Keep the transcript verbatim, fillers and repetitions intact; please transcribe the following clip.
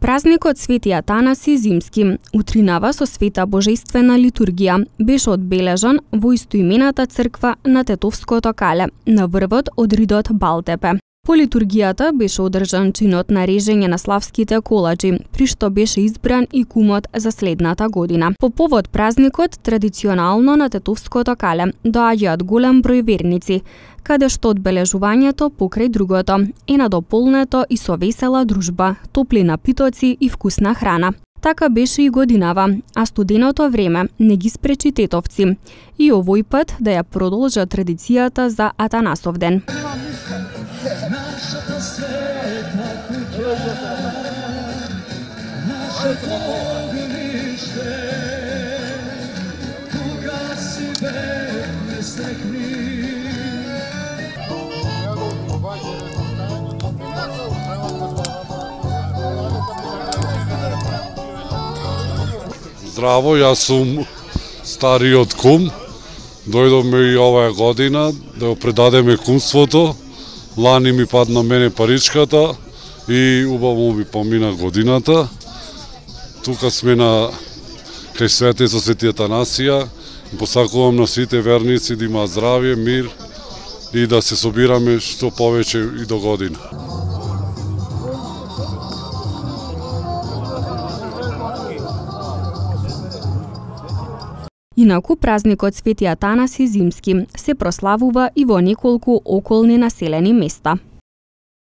Празникот Свети Атанаси Зимски утринава со света божествена литургија беше одбележан во истоимената црква на Тетовското кале, на врвот од ридот Балтепе. По литургијата беше одржан чинот на режење на славските колачи, при што беше избран и кумот за следната година. По повод празникот, традиционално на Тетовското кале доаѓаат голем број верници, каде што одбележувањето покрај другото е надополнето и со весела дружба, топли напитоци и вкусна храна. Така беше и годинава, а студеното време не ги спречи тетовци и овој пат да ја продолжат традицијата за Атанасов ден. Нашата света куќа, нашето огниште, кога си век стекни. Здраво, јас сум стариот кум. Дојдовме и оваа година да го предадеме кумството. Лани ми падна мене паричката и убаво ми помина годината. Тука сме на кај светица Свети Атанасија. Посакувам на сите верници да имаат здравје, мир и да се собираме што повеќе и до година. Инаку празникот Свети Атанаси Зимски се прославува и во неколку околни населени места.